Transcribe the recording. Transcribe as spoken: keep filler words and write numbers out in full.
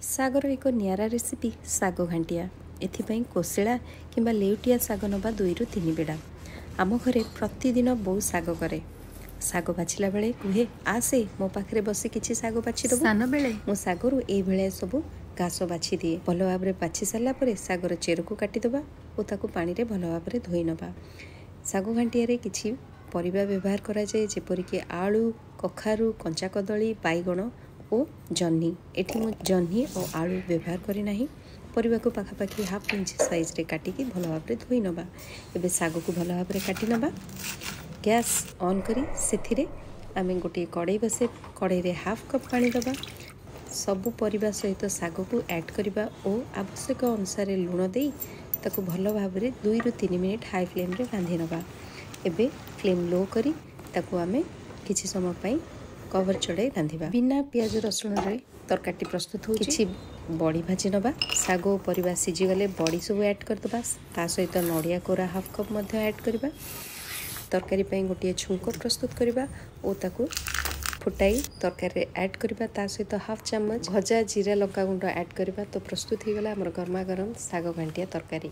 ଶାଗର ଏକ ନିଆରା ରେସିପି ଶାଗ ଘାଣ୍ଟିଆ। ଏଥିପାଇଁ କୋଶିଳା କିମ୍ବା ଲେଉଟିଆ ଶାଗ ନେବା ଦୁଇରୁ ତିନି ବିଡ଼ା। ଆମ ଘରେ ପ୍ରତିଦିନ ବୋଉ ଶାଗ କରେ। ଶାଗ ବାଛିଲା ବେଳେ କୁହେ, ଆସେ ମୋ ପାଖରେ ବସି କିଛି ଶାଗ ବାଛି ଦେବୁ। ସାନବେଳେ ମୁଁ ଶାଗରୁ ଏଇଭଳିଆ ସବୁ ଘାସ ବାଛି ଦିଏ। ଭଲ ଭାବରେ ବାଛି ସାରିଲା ପରେ ଶାଗର ଚେରକୁ କାଟିଦେବା ଓ ତାକୁ ପାଣିରେ ଭଲ ଭାବରେ ଧୋଇ ନେବା। ଶାଗ ଘାଣ୍ଟିଆରେ କିଛି ପରିବା ବ୍ୟବହାର କରାଯାଏ, ଯେପରିକି ଆଳୁ, କଖାରୁ, କଞ୍ଚା କଦଳୀ, ବାଇଗଣ ଓ ଜହ୍ନି। ଏଠି ମୁଁ ଜହ୍ନି ଓ ଆଳୁ ବ୍ୟବହାର କରିନାହିଁ। ପରିବାକୁ ପାଖାପାଖି ହାଫ୍ ଇଞ୍ଚ ସାଇଜ୍ରେ କାଟିକି ଭଲ ଭାବରେ ଧୋଇ ନେବା। ଏବେ ଶାଗକୁ ଭଲ ଭାବରେ କାଟି ନେବା। ଗ୍ୟାସ୍ ଅନ୍ କରି ସେଥିରେ ଆମେ ଗୋଟିଏ କଡ଼େଇ ବସେଇ କଡ଼େଇରେ ହାଫ୍ କପ୍ ପାଣି ଦେବା। ସବୁ ପରିବା ସହିତ ଶାଗକୁ ଆଡ଼୍ କରିବା ଓ ଆବଶ୍ୟକ ଅନୁସାରେ ଲୁଣ ଦେଇ ତାକୁ ଭଲ ଭାବରେ ଦୁଇରୁ ତିନି ମିନିଟ୍ ହାଇ ଫ୍ଲେମ୍ରେ ରାନ୍ଧି ନେବା। ଏବେ ଫ୍ଲେମ୍ ଲୋ କରି ତାକୁ ଆମେ କିଛି ସମୟ ପାଇଁ କଭର୍ ଚଢ଼ାଇ ରାନ୍ଧିବା। ବିନା ପିଆଜ ରସୁଣରେ ତରକାରୀଟି ପ୍ରସ୍ତୁତ ହେଉଛି। କିଛି ବଡ଼ି ଭାଜି ନେବା। ଶାଗ ଓ ପରିବା ସିଝିଗଲେ ବଡ଼ି ସବୁ ଆଡ଼୍ କରିଦେବା। ତା ସହିତ ନଡ଼ିଆ କୋରା ହାଫ୍ କପ୍ ମଧ୍ୟ ଆଡ଼୍ କରିବା। ତରକାରୀ ପାଇଁ ଗୋଟିଏ ଛୁଙ୍କ ପ୍ରସ୍ତୁତ କରିବା ଓ ତାକୁ ଫୁଟାଇ ତରକାରୀରେ ଆଡ଼୍ କରିବା। ତା ସହିତ ହାଫ୍ ଚାମଚ ଭଜା ଜିରା ଲଙ୍କା ଗୁଣ୍ଡ ଆଡ଼୍ କରିବା। ତ ପ୍ରସ୍ତୁତ ହେଇଗଲା ଆମର ଗରମା ଗରମ ଶାଗ ଘାଣ୍ଟିଆ ତରକାରୀ।